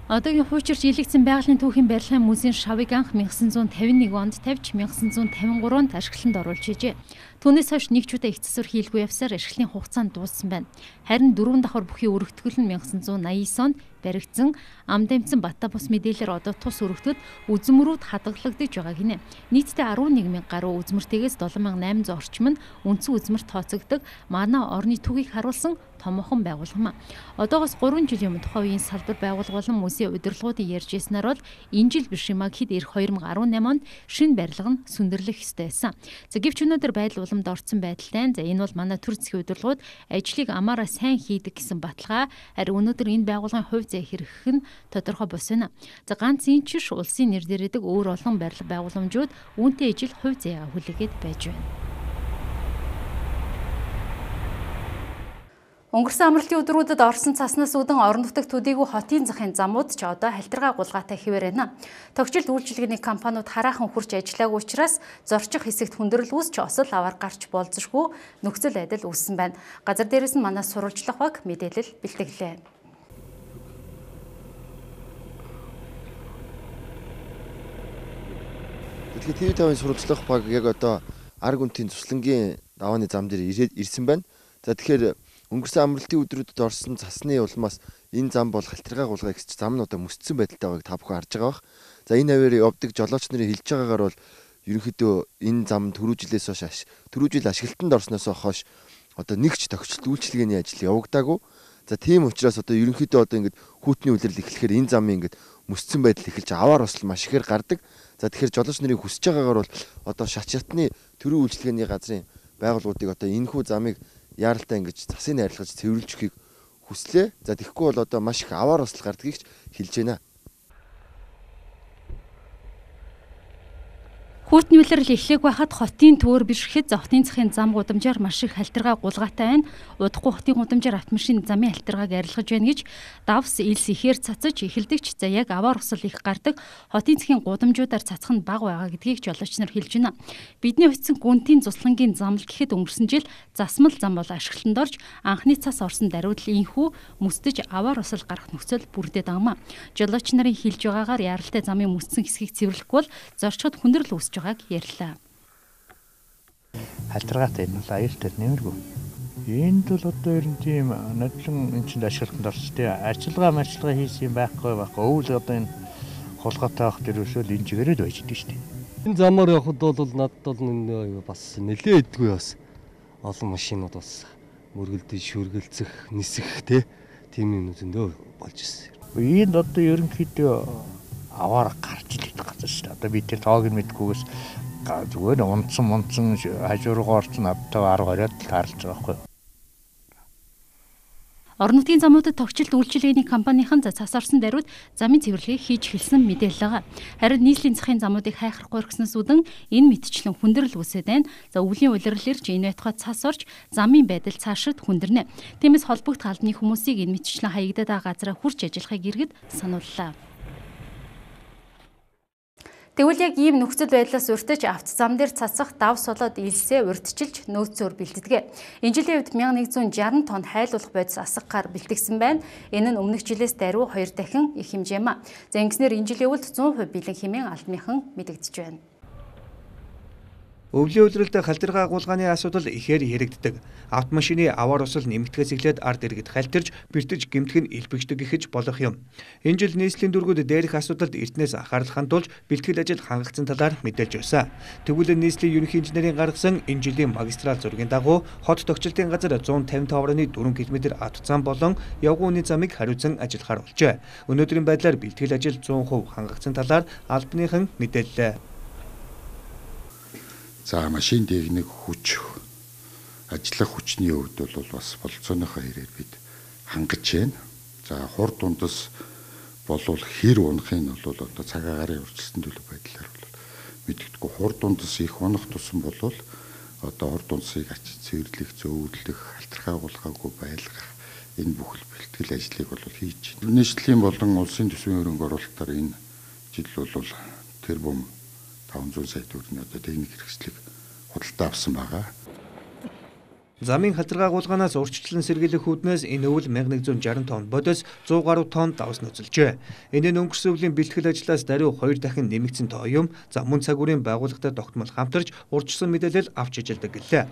Одоогийн хуучирч илэгдсэн байгалийн түүхийн барилгын музейн шавыг анх мянга санаа зуун тавин нэг онд тавьж мянга санаа зуун тавин гурав онд ашиглалтанд оруулж хийжээ. Түүнээс хойш нэг ч удаа их засвар хийлгүй явсаар ашиглалтын хугацаанд дууссан байна. Харин дөрвөн давхар бүхий өргөтгөл нь мянга санаа зуун наян онд баригдсан ам дамжсан бата бус мэдээлэлээр одоо тус өргөтгөд үзмрүүд хадгалагдаж байгаа гинэ. Нийтдээ арван нэг мянга гаруй үзмэртэйгээс долоон мянга найман зуун орчим нь үндсэн үзмэрт тооцогддог манай орны түүхийг харуулсан томоохон байгууллага. Одоогоос гурван жилийн өмнө тухайн үеийн салбар байгууллага болон музей удирдлагуудын ярьж ирснээр бол энэ жил биш юм а гэхэд эх хоёр мянга арван намын онд шинэ барилга нь сүндэрлэх ёстой байсан. За гэвч өнөөдөр байдал уламд орсон байдалтай. За энэ бол манай төр засгийн удирдлагууд ажлыг амаараа сайн хийдэг гэсэн баталгаа. Харин өнөөдөр энэ байгууллагын хувь зай хэрэгэх нь тодорхой бос байна. За ганц энэ ч улсын нэр дээрээдэг өөр олон барилга байгууламжууд үүнтэй ижил хувь заяа хүлээгээд байж байна. Өнгөрсөн амралтын өдрүүдэд орсон цаснаас үүдэн орон нутагт төдийгүй хотын захын замууд ч одоо халтргаа гулгаатай хэвээр байна. Тогтчлт үйлчилгээний компаниуд хараахан хурж ажиллаагүй учраас зорчих хэсэгт хүндрэл үүсч осол аваар гарч болзошгүй нөхцөл байдал үүссэн байна. Газар дээрээс нь манай сурвалжлах баг мэдээлэл бэлтгэлээ. Тэгэхээр ТV тавын сурвалжлах баг яг одоо арга үнтийн туслангийн давааны зам дээр ирсэн байна. За тэгэхээр өнгөрсөн амралтын өдрүүдэд орсон цасны улмаас энэ зам бол халтргаа гулгаа гэж зам нь одоо мөсцсөн байдалтай байгааг та бүхэн харж байгаа бах. За энэ аваар явдаг жолооч нарын хэлж байгаагаар бол ерөнхийдөө энэ зам түрүү жилээс хойш түрүү жил ашиглалтанд орсноос хойш одоо нэг ч тогтчлт үйлчилгээний ажил явагдаагүй. За тийм учраас одоо ерөнхийдөө одоо ингээд хүүтний үлрэл эхлэхээр энэ замын ингээд мөсцсөн байдал эхэлж аваар осол маш ихээр гардаг. За тэгэхээр жолооч нарын хүсэж байгаагаар бол одоо шат шатны төрийн үйлчилгээний газрын байгууллагуудыг одоо энэхүү замыг яаралтай ингэж засыг найрлаж цэвэрлж өгөхийг хүслээ. За тэгэхгүй бол одоо маш их аваар осол гардгийг хэлж байна. Хүүтний үлрэл эхлэх байхад хотын төөр бишрэхэд хотын захын зам гудамжаар маш их халтргаа гулгаатай байна. Удахгүй хотын гудамжаар автомашин замын халтргааг арилгаж байна гэж давс илс ихээр цацаж эхэлдэгч за яг аваар усал их гардаг хотын захын гудамжуудаар цацах нь бага байгаа гэдгийг жолооч нар хэлж байна. Бидний очисон гүнтийн цуслангийн зам л гэхэд өнгөрсөн жил засмал зам бол ашиглалтанд орж анхны цас орсон даруйд инхүү мөсдөж аваар усал гарах нөхцөл бүрдээд байгаамаа. Жолооч нарын хэлж байгаагаар яралтай замын мөссөн хэсгийг цэвэрлэхгүй бол зорчход хүндрэл үүсэж байгааг ярьлаа. Халтргаатай энэ бол аюултай нэмэргүй. Энд бол одоо ер нь тийм нодлон энэ чинь ашиглалтанд орсон тийм ажиллагаа мэдлэгээ хийсэн байхгүй байхгүй. Өвөл одоо энэ хулгайтай авах дэрвшэл энэ чигээрээ байж идэг шүү дээ. Энэ замаар явхад бол надад бол энэ бас нэлээд эдгүй бас олон машинууд бас мөргөлдөж шүргэлцэх, нисэх тийм юм зөндөө болж ирсэн. Энд одоо ерөнхийдөө аваар гарч л идэх газар шүү дээ. Одоо би тэр тоог нь мэдгүйгээс зүгээр унтсан мунтсан хажуургаа орсон автай арга хориод таарч байгаа байхгүй. Орон нутгийн замуудад тогтчлт үйлчилгээний компанийн цас орсон даруйд замын цэвэрлэгийг хийж эхэлсэн мэдээлэл байгаа. Харин нийслэлийн захын замуудыг хайхрахгүй орхисноос үүдэн энэ мэтчлэн хүндрэл үүсээд байна. За өвлийн улирлэрч энэ байтугай цас орж замын байдал цаашид хүндэрнэ. Тиймээс холбогд албаны хүмүүсийг энэ мэтчлэн хаягдаад байгаа газараа хурж ажиллахыг иргэд санууллаа. Тэгвэл яг ийм нөхцөл байдлаас урьдчилж авто зам дээр цацах давс болоод илсээ урьдчилж нөөцөөр бэлтгэдэг. Энэ жилийн үед мянга нэгэн зуун жаргал тонн хайлуулах бодис асгаар бэлтгэсэн байна. Энэ нь өмнөх жилээс даруй хоёр дахин их хэмжээ маа. За ингэснээр энэ жилийн үед зуун хувь бэлэн хэмээн албаныхан мэдэгдэж байна. Өвлийн улиралд халтргаа гулгааны асуудал ихээр яригддаг. Автомашины аваар усал нэмэгдэхээс эхлээд ард иргэд халтирж, бэртэж гэмтэх нь илбэгдэг гэж болох юм. Энэ жил нийслэлийн дөргүүд дээрх асуудалд эртнээс анхаарал хандуулж бэлтгэл ажил хангагдсан талаар мэдээлж байсан. Тэгвэл нийслэлийн ерөнхий инженерийн гаргасан энэ жилийн магистрал зургийн дагуу хот тогтчлтын газар зуун тавин тавны дөрвөн километр автозам болон явган үний замыг хариуцсан ажиллахаар болжээ. Өнөөдрийн байдлаар бэлтгэл ажил зуун хувь хангагдсан талаар албаныхан мэдээллээ. За машин техник хүч ажиллах хүчний хувьд бол бас болцооныхоо хэрээр бид хангаж байна. За хур дундас болвол хэр унахын нь бол одоо цаг агарын урьдчилсан төлөв байдлаар бол мэддэггүй. Хур дундас их унах тусам бол одоо хур дундсыг ачиж цэвэрлэх, зөөвлөх, халтрахаа гулгаагүй байлгах энэ бүхэл бэлтгэл ажлыг бол хийж байна. Нийслэлийн болон улсын төсвийн хөрөнгө оруулалтаар энэ жил бол тэрбум таван зуун сая төгрөгийн одоо техник хэрэгслийг худалдаа авсан байгаа. Замын халтргаа гулгаанаас урьдчилан сэргийлэх үүднээс энэ өвөл мянга нэгэн зуун жаргал тонн бодис зуун гаруй тонн давс нөцөлжээ. Энэ нь өнгөрсөн өвлийн бэлтгэл ажлаас даруй хоёр дахин нэмэгдсэн тоо юм. За мөн цагуурийн байгууллагатай тогтмол хамтарч урьдчилсан мэдээлэл авч ижилдэг гэлээ.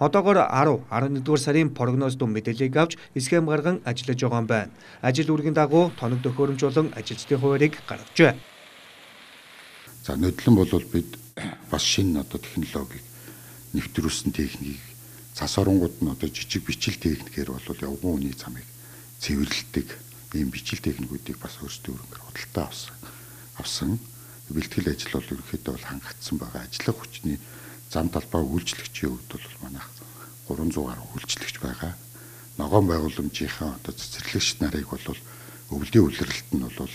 Одоогоор арав арван нэгдүгээр сарын прогноз дум мэдээллийг авч схем гарган ажиллаж байгаа юм байна. Ажил үргийн дагуу тоног төхөөрөмж болон ажилчдын хуваарийг гаргажээ. За нодлон бол бид бас шинэ одоо технологиг нэвтрүүлсэн техникийг цас оронгууд нь одоо жижиг бичил техникээр бол явган үний замыг цэвэрлэдэг ийм бичил техникүүдийг бас өөрсдөө өрөнгөөр худалдаа авсан. Авсан бэлтгэл ажил бол ерөнхийдөө бол хангагдсан байгаа. Ажиллах хүчний зам талбай үйлчлэгчийн хувьд бол манайх гурван зуун гаруй үйлчлэгч байгаа. Ногоон байгууламжийнхаа одоо цэцэрлэгч нарыг бол өвлийн улиралт нь бол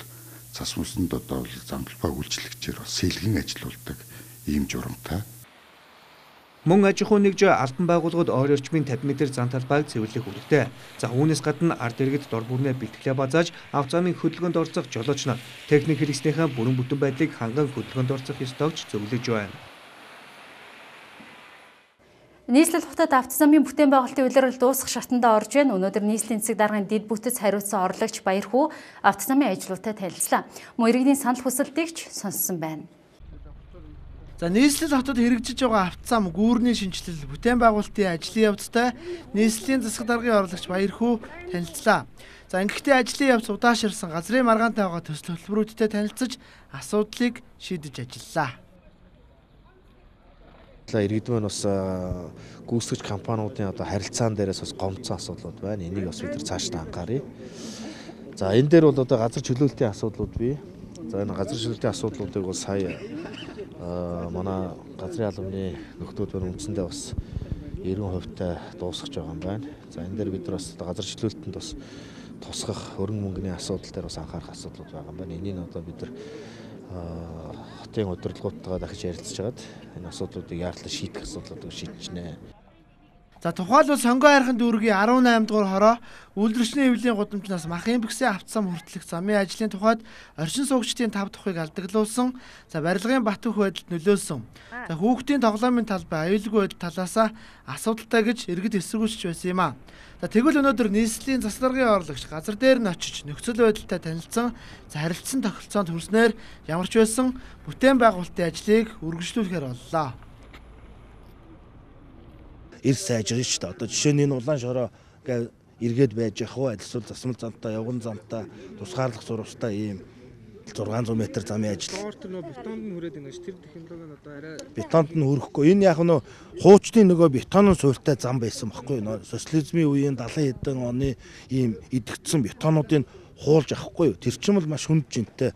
цас мөсөнд одоо зам талбай үйлчлэгчээр бас сэлгэн ажиллаулдаг ийм журамтай. Мөн аж ахуйн нэгж албан байгууллагууд ойр орчмын тавьсан метр зан талбайг цэвэрлэх үүрэгтэй. За үүнээс гадна ард иргэд дор бүрнээ бэлтгэлээ базааж авто замын хөдөлгөөнд орцох жолооч нар техник хэрэгснийхээ бүрэн бүтэн байдлыг ханган хөдөлгөөнд орцох ёстойгч зөвлөж байна. Нийслэл хотод авто замын бүтээн байгуулалтын улирал дуусах шатанда орж байна. Өнөөдөр нийслэлийн засаг даргын дэд бүтэц хариуцсан орлогч Баярхүү авто замын ажлуудтай танилцлаа. Мөн иргэдийн санал хүсэлтийг ч сонссон байна. За нийслэл хотод хэрэгжиж байгаа авто зам гүүрний шинжилэл бүтээн байгуулалтын ажлын явцтай нийслэлийн засаг даргын орлогч Баярхүү танилцлаа. За ингэхдээ ажлын явц удаашрсан газрын маргаантай байгаа төсөл хөтөлбөрүүдтэй танилцаж асуудлыг шийдэж ажиллалаа. Иргэдмэн бас гүйцэтгэгч компаниудын одоо харилцаан дээрээс бас гомдсон асуудлууд байна. Энийг бас бид нар цааш та анхааръя. За энэ дээр бол одоо газар чөлөөлтийн асуудлууд бий. За энэ газар чөлөөлтийн асуудлуудыг бол сая манай газрын албаны нөхдүүд байна үндсэндээ бас эргэн хувьтай дуусгаж байгаа юм байна. За энэ дээр бид нар бас газар чөлөөлтөнд бас тусгах хөрөнгө мөнгөний асуудал дээр бас анхаарах асуудлууд байгаа юм байна. Энийг одоо бид нар хотын удирдлагуудтайгаа дахиж ярилцж хагаад энэ асуудлуудыг яаралтай шийдэх асуудлуудыг шийдэж нэ. За тухайлбал сонгоо хайрхан дүүргийн арван аймд дугаар хороо үйлдвэрчний хэвлэлийн гудамжнаас махын бэксээ автсан хүртэлх замын ажлын тухайд оршин суугчдын тав тухыг алдаглуулсан. За барилгын бат бөх байдалд нөлөөлсөн. За хүүхдийн тоглоомын талбай аюулгүй байдал талаасаа асуудалтай гэж иргэд эсэргүүцэж байсан юм а. За тэгвэл өнөөдөр нийслэлийн засаг даргын орлогч газар дээр нь очиж нөхцөл байдалтай танилцсан, за харилцсан тохиролцоонд хүрснээр ямар ч байсан бүтээн байгуулалтын ажлыг үргэлжлүүлэхээр боллоо. Ирс сайжрч та одоо жишээ нь энэ улаан шороо гээ эргээд байж явах уу эсвэл засмал замтай явган замтай тусгаарлах зурвастай ийм зургаан зуун метр замын ажил. Доорт нөө бетонд нь хүрээд байна ш тэр технологи нь одоо арай бетонд нь хүрэхгүй. Энэ яг нөө хуучны нөгөө бетонын суурьтай зам байсан байхгүй нөө социализмын үеийн далайн хэдэн оны ийм идэгдсэн бетонуудыг хуулж авахгүй юу. Тэр чинь бол маш хүнд жинтэй.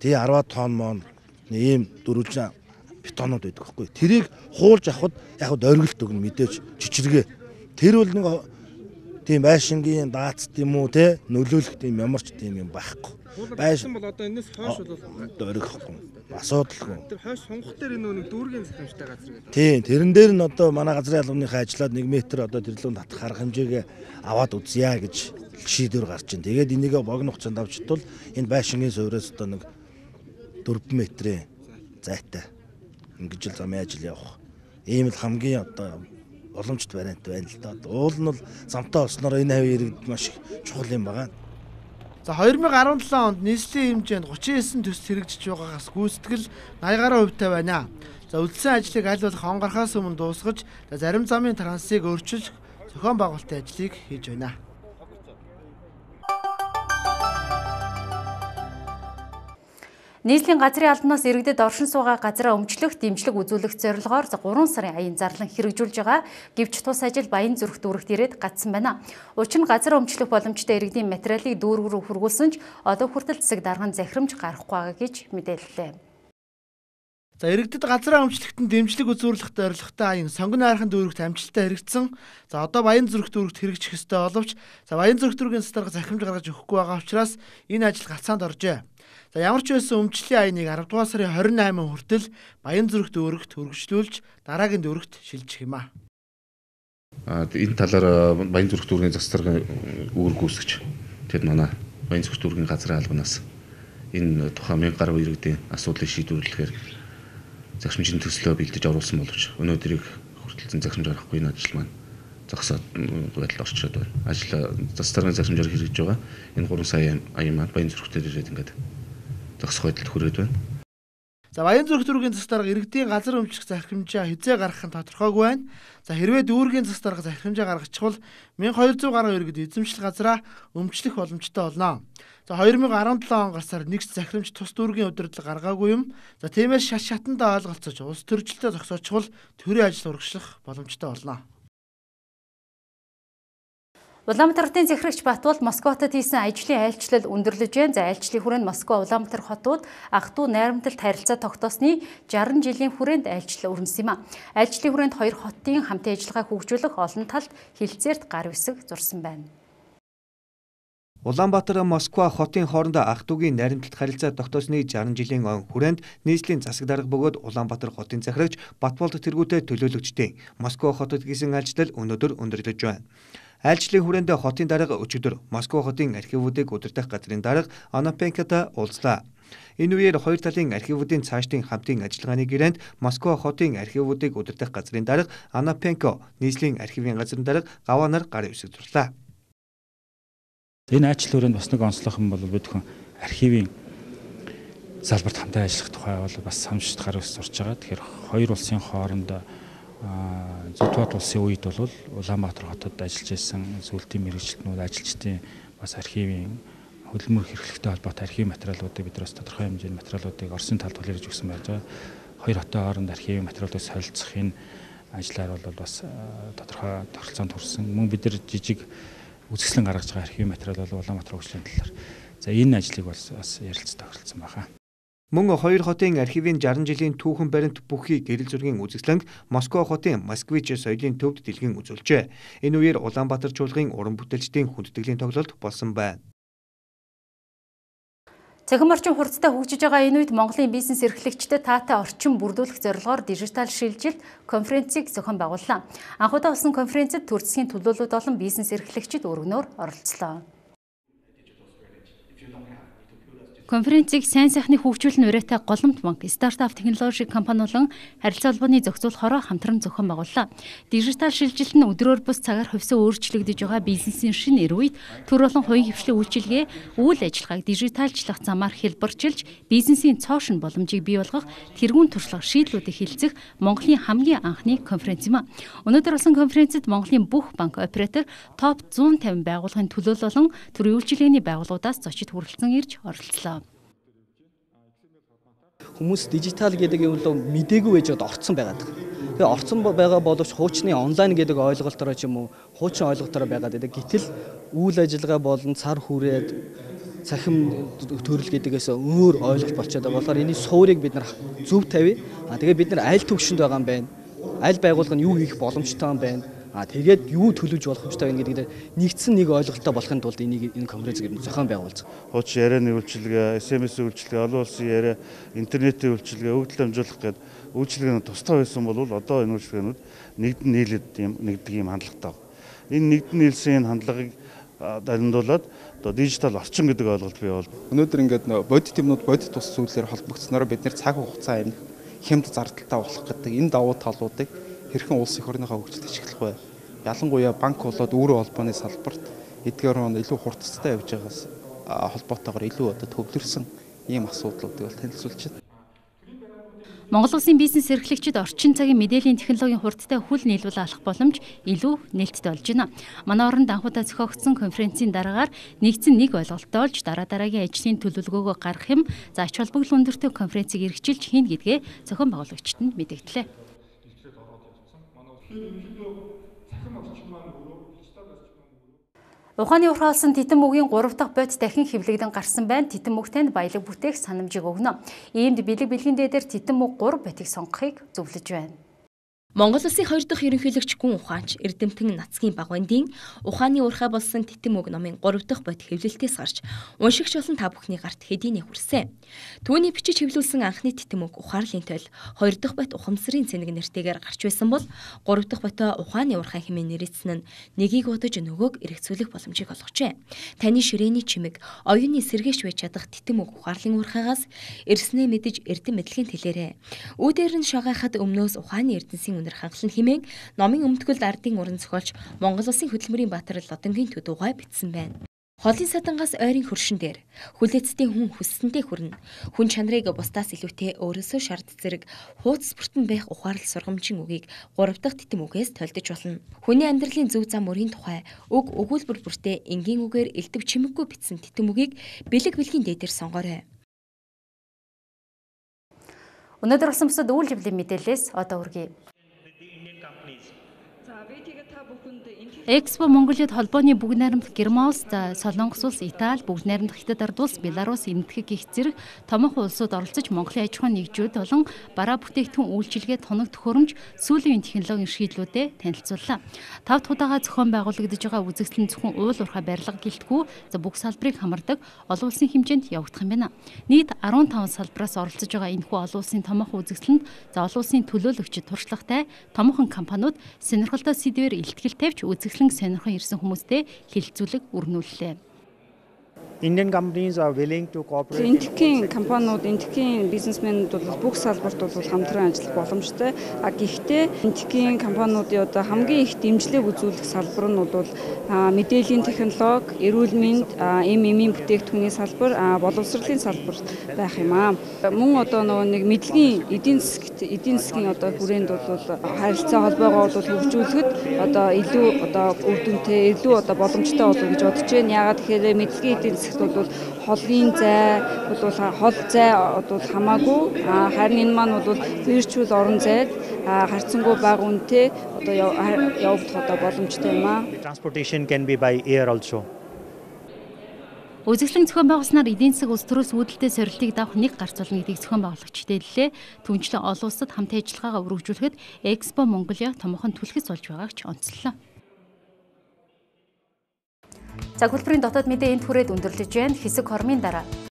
Тэгээ арваад тонн мон ийм дөрвөлжин бетонууд байдаг байхгүй. Тэрийг хуулж авахд яг дөргөлт өгнө мэдээж жижиргээ. Тэр бол нэг тийм байшингийн даацт юм уу те нөлөөлөх тийм ямарч тийм юм байхгүй. Байшин бол одоо энэс хойш бол дөргөхгүй. Асуудалгүй. Тэр хойш сонгох дээр энэ нэг дүүргийн захимжтай газар гэдэг. Тийм тэрэн дээр нь одоо манай газрын албаныхаа ажиллаад нэг метр одоо тэрлүүнд татах арга хэмжээгээ аваад үзье гэж шийдвэр гарч ин. Тэгээд энийгээ богино хугацаанд авчтвал энэ байшингийн суурьаас одоо нэг дөрвөн метрийн зайтай ингэж л замын ажил явах. Ийм л хамгийн одоо боломжтой вариант байна л да. Уул нь бол замтай болсноор энэ хавь иргэд маш чухал юм байна. За хоёр мянга арван долоо онд нийслэлийн хэмжээнд гучин девять төсөл хэрэгжиж байгаагаас гүйцэтгэл восемь гаруй хувьтай байна. За үлдсэн ажлыг аль болох он гарахаас өмнө дуусгаж, зарим замын трансыг өөрчилж зохион байгуулалтын ажлыг хийж байна. Нийслэлийн газрын албанаас иргэдэд оршин суугаа газраа өмчлөх, дэмжлэг үзүүлэх зорилгоор гурван сарын аян зарлан хэрэгжүүлж байгаа гэвч тус ажил Баян зүрх дүүрэгт ирээд гацсан байна. Учир нь газар өмчлөх боломжтой иргэдийн материалыг дүүрэг рүү хүргүүлсэн ч одоо хүртэл засаг дарган захирамж гарахгүй байгаа гэж мэдээллээ. За иргэдэд газраа өмчлөхтөнд дэмжлэг үзүүлэхтэй зорилготой аян сонгон хайрхан дүүрэгт амжилттай хэрэгжсэн. За одоо Баян зүрх дүүрэгт хэрэгжих ёстой боловч за Баян зүрх дүүргийн засаг дарга захирамж гаргаж өгөхгүй байгаа учраас энэ ажил гацаанд оржээ. За ямар ч байсан өмчлөлийн аяныг арав дугаар сарын хорин наймын хүртэл Баян зүрх дүүрэгт хөргөжлүүлж дараагийн дүүрэгт шилжих юм а. Энэ талаар Баян зүрх дүүргийн засаг даргын үүрэг гүйцэтгэж тэгэд манай Баян зүрх дүүргийн газрын албанаас энэ тухайн мянга гаруй иргэдийн асуудлыг шийдвэрлэхээр захирамжийн төслөө бэлдэж оруулсан боловч өнөөдрийг хүртэл захирамж гаргахгүй энэ ажил маань зогсоод байдал орчроод байна. Ажил засаг даргын захирамжаар хэрэгжиж байгаа энэ гурван сая аян маань Баян зүрх дээр ирээд ингээд зогсох байдалд хүрээд байна. За Баян зүрх дүүргийн засаг дарга иргэдийн газар өмчлөх захирамжаа хизээ гаргах нь тодорхойгүй байна. За хэрвээ дүүргийн засаг дарга захирамжаа гаргачихвал мянга хоёр зуун гаруй иргэд эзэмшил газраа өмчлөх боломжтой болно. За хоёр мянга арван долоо он гарсаар нэгч захирамж тус дүүргийн удирдлага гаргаагүй юм. За тиймээс шат шатандаа ойлголцож улс төрөлжлөлтөд зогсоочвол төрийн ажил урагшлах боломжтой болно. Улаанбаатар хотын захирагч Батбол Москватад хийсэн ажлын айлчлал өндөрлөж байна. За айлчлалын хүрээнд Москва Улаанбаатар хотууд ах トゥ найрамдалт харилцаа тогтоосны шарсан жилийн хүрээнд айлчлал өрнөсөн юм а. Айлчлалын хүрээнд хоёр хотын хамтын ажиллагааг хөгжүүлэх олон талд хилцээрт гар үсэг зурсан байна. Улаанбаатар Москва хотын хоорондоо ах дүүгийн найрамдалт харилцаа тогтоосны шаран жилийн он хүрээнд нийслэлийн засаг дарга бөгөөд Улаанбаатар хотын захирагч Батболд тэргүүтэй төлөөлөгчдийн Москва хотод хийсэн айлчлал өнөөдөр өндөрлөж байна. Айлчлалын хүрээнд хотын дарга өчигдөр Москва хотын архивуудыг удирдах газрын дарга Анапенката уулзлаа. Энэ үеэр хоёр талын архивуудын цаашдын хамтын ажиллагааны гэрээнд Москва хотын архивуудыг удирдах газрын дарга Анапенко, нийслэлийн архивын газрын дарга Гаванар гар ивсэгдүүллээ. Энэ айлчлал хүрээнд бас нэг онцлог юм бол бид хүн архивын салбарт хамтаа ажиллах тухай бол бас самжит гар ус сурч байгаа. Тэгэхээр хоёр улсын хоорондоо Зөвтбат улсын үед бол Улаанбаатар хотод ажиллаж байсан зөвлөлтийн мэргэжилтнүүд, ажилчдын бас архивын хөдөлмөр хэрэглэхтэй холбоотой архивын материалуудыг бид бас тодорхой хэмжээний материалуудыг Оросын талд хүлээж өгсөн байж байгаа. Хоёр хотын хооронд архивын материалуудыг солилцох энэ ажлаар бол бас тодорхой тогтолцоонд хүрсэн. Мөн бид нар жижиг үзэсгэлэн гаргаж байгаа архивын материал бол Улаанбаатар хөгжлийн талаар. За энэ ажлыг бас бас ярилцсан тохиролцсон байна. Мөн хоёр хотын архивын шаран жилийн түүхэн баримт бүхий гэрэл зургийн үзэсгэлэнг Москва хотын Москвич соёлын төвд дэлгэн үзүүлжээ. Энэ үеэр Улаанбаатар чуулгын уран бүтээлчдийн хүндэтгэлийн тоглолт болсон байна. Цахим орчин хурдтай хөгжиж байгаа энэ үед Монголын бизнес эрхлэгчдэд таатай орчин бүрдүүлэх зорилгоор дижитал шилжилт конференцийг зохион байгууллаа. Анхудаа болсон конференцэд төр засгийн төлөөлөлт болон бизнес эрхлэгчид өргөнөөр оролцлоо. Конференцийг сайн сайхны хөгжүүлэн урайтай голомт банк, стартап технологи компани болон харилцаа холбооны зохицуулахаараа хамтран зохион байгууллаа. Дижитал шилжилт нь өдрөөр бус цагаар хувьсаа өөрчлөгдөж байгаа бизнесийн шинэ эр үед төр болон хувийн хвшлийн үйлчилгээ, үйл ажиллагааг дижиталчлах замаар хэлбэрчилж, бизнесийн цоошин боломжийг бий болгох тэргүүн туршлага шийдлүүдийг хилцэх Монголын хамгийн анхны конференц юм а. Өнөөдөр болсон конференцэд Монголын бүх банк оператор топ зуун тавин байгууллагын төлөөлөл болон төрийн үйлчилгээний байгууллагуудаас зочид хүрэлцэн ирж оролцлоо. Хүмүүс дижитал гэдэг юм бол мдээгүй байж одоо орцсон байгаад. Тэгээ орцсон байгаа боловч хуучны онлайн гэдэг ойлголтоор ч юм уу хуучин ойлголтоор байгаад байдаг. Гэтэл үйл ажиллагаа болон цар хүрээд цахим төрөл гэдэгээс өөр ойлголт болчиход байгаа. Болохоор энэ суурийг бид нар зөв тавья. А тэгээ бид нар аль төвшөнд байгаа юм байна. Аль байгууллага нь юу хийх боломжтой юм байна. А тэгээд юу төлөвлөж боломжтой байна гэдэг нэгдсэн нэг ойлголттой болохын тулд энийг энэ конференцийг зохион байгуулж байгаа. Хуучин ярианы үйлчилгээ, эс эм эс үйлчилгээ, олон улсын яриа, интернетийн үйлчилгээ, өгдөл амжуулах гэдэг үйлчилгээнд тустай байсан бол одоо энэ үйлчилгээнүүд нэгдэн нийлээд юм нэгдэг юм хандлагатай байна. Энэ нэгдэн нийлсэн энэ хандлагыг дамжуулаад одоо дижитал орчин гэдэг ойлголт бий бол. Өнөөдөр ингээд бодит юмнууд бодит тус зүйлээр холбогдсноор бид нэр цаг хугацаа амин хямд зардалтай болох гэдэг энэ давуу талуудыг хэрхэн улс эх орныхоо хөгжилд ашиглах вэ? Ялангуяа банк болоод өөрөө холбооны салбарт эдгээр он илүү хурдцтай явж байгаас холбоотойгоор илүү одоо төвлөрсөн ийм асуудлуудыг бол танилцуулж байна. Монгол улсын бизнес эрхлэгчид орчин цагийн мэдээллийн технологийн хурдтай хүл нийлүүл алах боломж илүү нээлттэй болж байна. Манай оронд анхудаа зохиогдсон конференцийн дараагаар нэгдсэн нэг ойлголттой болж дараа дараагийн ажлын төлөвлөгөөгөө гаргах юм, за ач холбогдол өндөртэй конференцийг эргэжүүлж хийнэ гэдгээ зохион байгуулагчид нь мэдэгдлээ. Ухааны урхаалсан титэн мөгийн гурав дахь бод дахин хэвлэгдэн гарсан байна. Титэн мөгтөнд баялаг бүтээх санамжийг өгнө. Иймд бэлэг бэлгийн дээдэр титэн мөг гурав ботыг сонгохыг зөвлөж байна. Монгол Улсын хоёр дахь ерөнхийлөгч гүн ухаанч Эрдэмтэн Нацгийн Багвандын ухааны урхаа болсон титэн мөг номын гурав дахь бод хэвлэлтээс гарч уншигч болон та бүхний гарт хэдийнэ хүрсэн. Түүний бичиж хэвлүүлсэн анхны титэн мөг ухаарлын тойл хоёр дахь бод ухамсарын цэник нэртэйгээр гарч байсан бол гурав дахь ботоо ухааны урхаа хэмээн нэрийдсэн нь нэгийг удаж нөгөөг эргэцүүлэх боломжийг олгожээ. Таны ширээний чимэг оюуны сэргээш байж чадах титэн мөг ухаарлын урхаагаас эрснээ мэдэж эрдэм мэдлэгийн тэлээрээ. Үүдээр нь шагайхад өмнөөс ухааны эрдэнсийн хангалан хэмээн номын өмтгөлд ардын уран зохиолч Монгол Улсын хөдөлмөрийн баатар Лодонгийн төдуугай бичсэн байна. Холын садангаас ойрын хөршин дээр хүлээцтэй хүн хүссэндээ хүрнэ. Хүн чанарыг бусдаас илүүтэй өөрөөсөө шард зэрэг хууц бүртэн байх ухаалал сургамжийн үгийг гурав дахь титэм үгээс тольдож болно. Хүний амьдралын зөв зам мөрийн тухай үг өгүүлбэр бүртээ энгийн үгээр элдв чимэггүй бичсэн титэм үгийг бэлэг бэлгийн дээдээр сонгоорой. Өнөөдөр болсон бусад үйл явдлын мэдээлэлээс одоо үргэлж Экспо Монголиуд холбооны бүгд найрамдах Герман улс, Солонгос улс, Итали, бүгд найрамдах Хятад ард улс, Беларусь, Энэтхэг гэх зэрэг томоохон улсууд оролцож Монголын аж ахуйн нэгжүүд болон бараа бүтээгдэхүүн үйлчилгээ, тоног төхөөрөмж, сүүлийн технологийн шийдлүүдэд танилцууллаа. Тав дахь удаага зохион байгуулагдаж байгаа үзэгдэл нь зөвхөн уул уурхай барилга гэлтгүй бүх салбарыг хамардаг олон улсын хэмжээнд явагдах юм байна. Нийт арван таван салбараас оролцож байгаа энэхүү олон улсын томоохон үзэгдэлд олон улсын төлөөлөгчид, туршлагатай томоохон компаниуд сонирхолтой сэдвээр илтгэл тавьж үзэгдлэн сонирхон ирсэн хүмүүстэй хилцүүлэг өрнүүллээ. Indian companies are willing to cooperate. Энэтхэгийн компаниуд, энэтхэгийн бизнесмэнүүд бол бүх салбарт бол хамтран ажиллах боломжтой. А гэхдээ энэтхэгийн компаниудын одоо хамгийн их дэмжлэг үзүүлэх салбар нь бол мэдээллийн технологи, эрүүл мэнд, эм эмийн бүтээгдэхүүний салбар, боловсролын салбар байх юм аа. Мөн одоо нөгөө нэг мэдлэгийн эдийн засгт, эдийн засгийн одоо хүрээнд бол харилцаа холбоогоо бол хөгжүүлэхэд одоо илүү одоо үр дүнтэй, илүү одоо боломжтой болов гэж бодож байна. Яагаад тэгэхээр мэдлэгийн эдийн бол холын зай бол хол зай бол хамаагүй харин энэ маань бол виртуал орон зайд харьцангуй бага үнэтэй одоо явагдах одоо боломжтой юм аа. Transportation can be by air also. Үзэгдлэн зохион байгуулснаар эдийн засаг улс төрөөс үүдэлтэй сорилтыг давах нэг гарц болно гэдгийг зохион байгуулагчид хэллээ. Түүнчлэн олон улсад хамт ажиллагаагаа өргөжүүлэхэд Экспо Монголиа томоохон түлхэц болж байгааг ч онцлоо. За, хөлбөрийн дотоод мэдээ энд хүрээд өндөрлөж байна. Хэсэг хормын дараа